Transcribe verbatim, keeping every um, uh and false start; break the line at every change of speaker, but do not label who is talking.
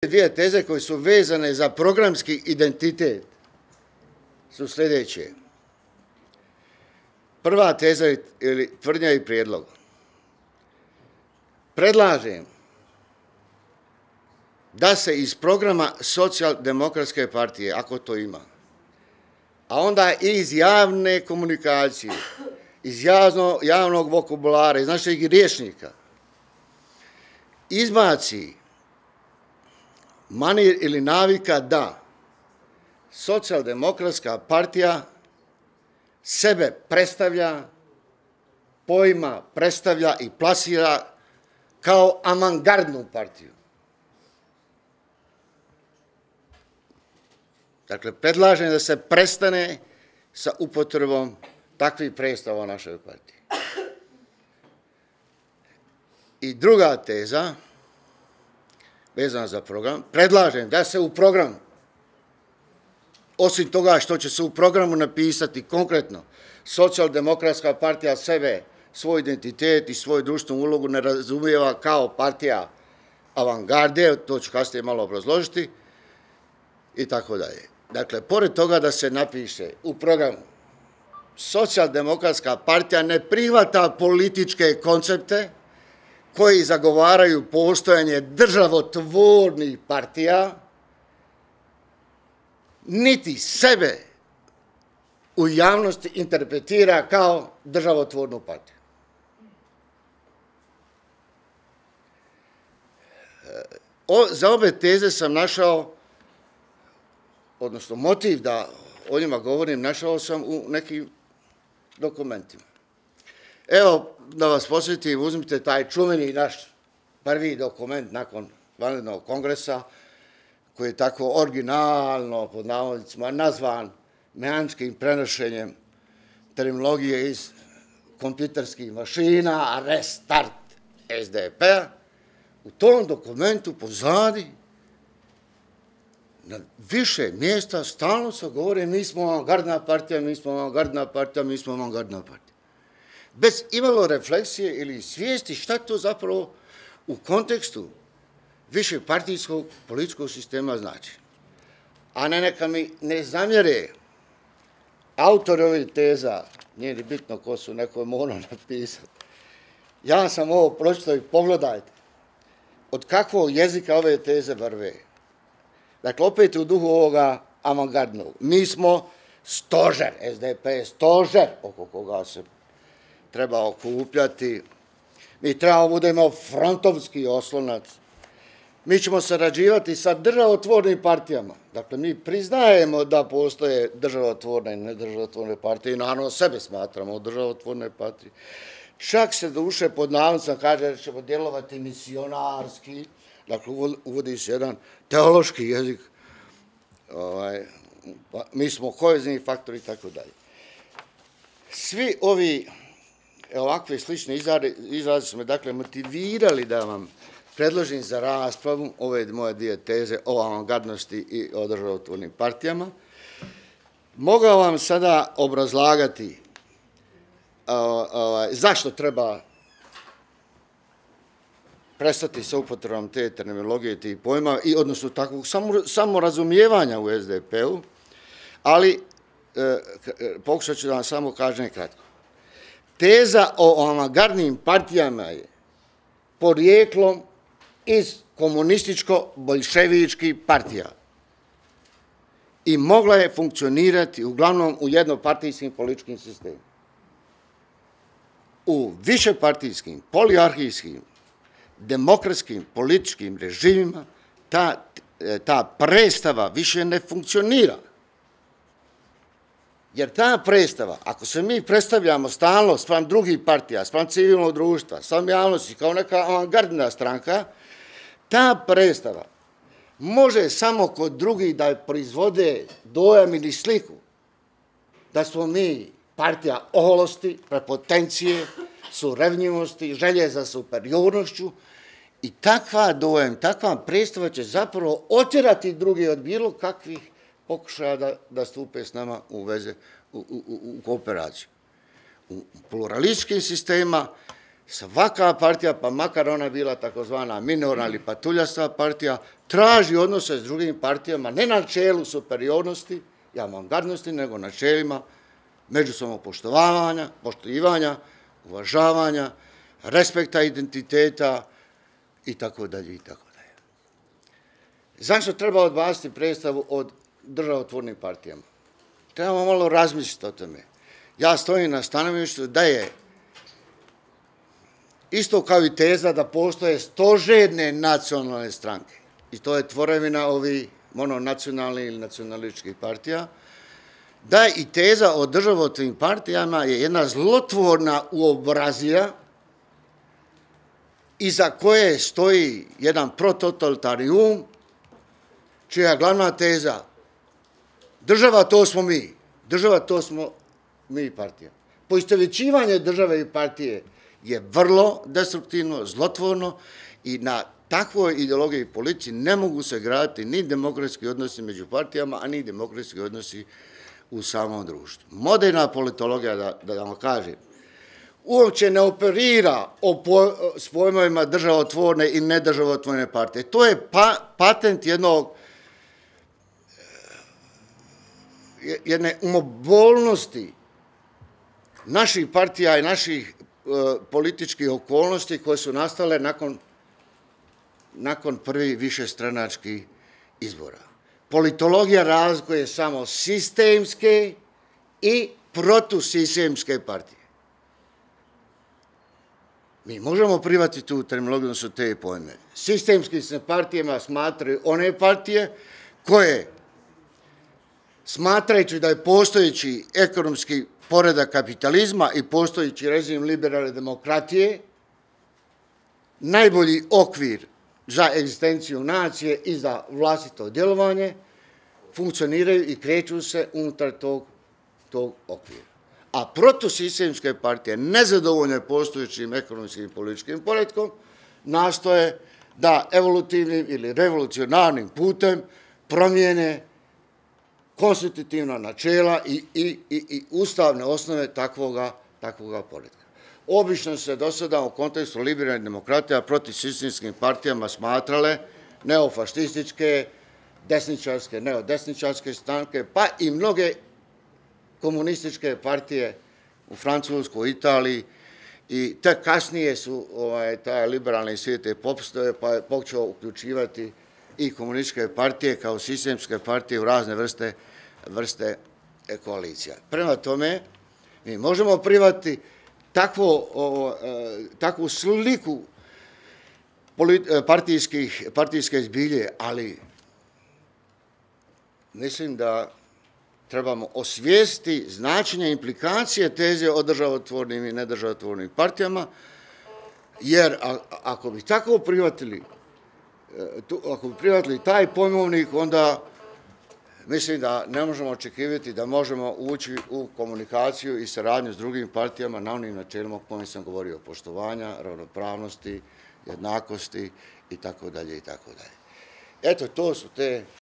Dvije teze koje su vezane za programski identitet su sljedeće. Prva teza ili tvrdnja i prijedlog. Predlažem da se iz programa Socijaldemokratske partije, ako to ima, a onda i iz javne komunikacije, iz javno, javnog vokabulara, iz našeg rječnika, izbaci manir ili navika da Socijaldemokratska partija sebe predstavlja, pojma predstavlja i plasira kao avangardnu partiju. Dakle, predlažem da se prestane sa upotrebom takvih predstava u našoj partiji. I druga teza, vezana za program, predlažem da se u programu, osim toga što će se u programu napisati konkretno, Socijaldemokratska partija sebe, svoj identitet i svoju društvenu ulogu ne razumijeva kao partija avangarde, to ću kasnije malo obrazložiti, i tako dalje. Dakle, pored toga da se napiše u programu, Socijaldemokratska partija ne prihvata političke koncepte koji zagovaraju postojanje državotvornih partija, niti sebe u javnosti interpretira kao državotvornu partiju. O, za obe teze sam našao, odnosno motiv da o njima govorim, našao sam u nekim dokumentima. Evo, da vas posjetim, uzmite taj čuveni naš prvi dokument nakon vanrednog kongresa, koji je tako originalno, pod navodnicima, nazvan mehaničkim prenošenjem terminologije iz kompjuterskih mašina, restart S D P-a. U tom dokumentu pozadi na više mjesta stalno se govore mi smo avangardna partija, mi smo avangardna partija, mi smo avangardna partija. Bez imalo refleksije ili svijesti šta to zapravo u kontekstu više partijskog političkog sistema znači. A ne neka mi ne zamjere autori ovih teza, nije ni bitno ko su, neko je morao napisati. Ja sam ovo pročitao i pogledajte od kakvog jezika ove teze vrve. Dakle, opet u duhu ovoga avangardnog. Mi smo stožer, S D P je stožer oko koga se treba okupljati. Mi trebamo budemo frontovski oslonac. Mi ćemo sarađivati sa državotvornim partijama. Dakle, mi priznajemo da postoje državotvorne i nedržavotvorne partije i naravno sebe smatramo državotvorne partije. Čak se duše pod navodnicima kaže da ćemo djelovati misionarski. Dakle, uvodi se jedan teološki jezik. Ovaj, mi smo kohezni faktori i tako dalje. Svi ovi ovakve slične izraze su me dakle motivirali da vam predložim za raspravu ove moje dvije teze o avangardnosti i o državotvornim partijama. Mogao vam sada obrazlagati zašto treba prestati sa upotrebom te terminologije, tih pojma, i odnosno takvog samorazumijevanja u S D P-u, ali pokušat ću da vam samo kažem kratko. Teza o avangardnim partijama je porijeklom iz komunističko-boljševičkih partija i mogla je funkcionirati uglavnom u jednopartijskim političkim sistemima. U višepartijskim, poliarhijskim, demokratskim političkim režimima ta, ta predstava više ne funkcionira. Jer ta predstava, ako se mi predstavljamo stalno spram drugih partija, spram civilnog društva, spram javnosti kao neka avangardna stranka, ta predstava može samo kod drugih da proizvode dojam ili sliku da smo mi partija oholosti, prepotencije, surevnjivosti, želje za superiornošću i takva dojam, takva predstava će zapravo otjerati druge od bilo kakvih pokušaja da, da stupe s nama u veze, u, u, u kooperaciju. U pluralističkim sistema svaka partija, pa makar ona bila takozvana minorna ili patuljasta partija, traži odnose s drugim partijama, ne na načelu superiornosti i avangardnosti, nego na načelima međusobnog poštovanja, poštivanja, uvažavanja, respekta identiteta i tako dalje i tako dalje. Zašto treba odbaciti predstavu od državotvornim partijama? Trebamo malo razmisliti o tome. Ja stojim na stanovištu da je isto kao i teza da postoje stožerne nacionalne stranke. I to je tvorevina ovih mononacionalnih ili nacionalističkih partija. Da je i teza o državotvornim partijama je jedna zlotvorna uobrazija iza koje stoji jedan prototalitarni um, čija glavna teza država to smo mi, država to smo mi partija. Poistovjećivanje države i partije je vrlo destruktivno, zlotvorno i na takvoj ideologiji i politici ne mogu se graditi ni demokratski odnosi među partijama, a ni demokratski odnosi u samom društvu. Moderna politologija, da, da vam kažem, uopće ne operira o po, s pojmovima državotvorne i nedržavotvorne partije. To je pa, patent jednog jedne umobolnosti naših partija i naših uh, političkih okolnosti koje su nastale nakon, nakon prvi višestranačkih izbora. Politologija razlikuje samo sistemske i protusistemske partije. Mi možemo prihvatiti tu terminologiju, da su te pojme. Sistemski se partijama smatraju one partije koje, smatrajući da je postojeći ekonomski poredak kapitalizma i postojeći režim liberalne demokratije najbolji okvir za egzistenciju nacije i za vlastito djelovanje, funkcioniraju i kreću se unutar tog, tog okvira. A protusistemske partije, nezadovoljne postojećim ekonomskim i političkim poretkom, nastoje da evolutivnim ili revolucionarnim putem promijene konstitutivna načela i, i, i, i ustavne osnove takvoga, takvoga poretka. Obično se do sada u kontekstu liberalnih demokratija protiv sistemskim partijama smatrale neofašističke, desničarske, neodesničarske stranke, pa i mnoge komunističke partije u Francuskoj, Italiji, i tek kasnije su ovaj, taj liberalni svijet popustove, pa je počeo uključivati i komunističke partije kao sistemske partije u razne vrste, vrste koalicija. Prema tome, mi možemo prihvatiti takvo, o, takvu sliku partijskih, partijske zbilje, ali mislim da trebamo osvijestiti značenje implikacije teze o državotvornim i nedržavotvornim partijama, jer a, ako bi tako prihvatili, ako bi prihvatili taj pojmovnik, onda mislim da ne možemo očekivati da možemo ući u komunikaciju i saradnju s drugim partijama na onim načelima o kojim sam govorio, poštovanja, ravnopravnosti, jednakosti i tako dalje i tako dalje. Eto, to su te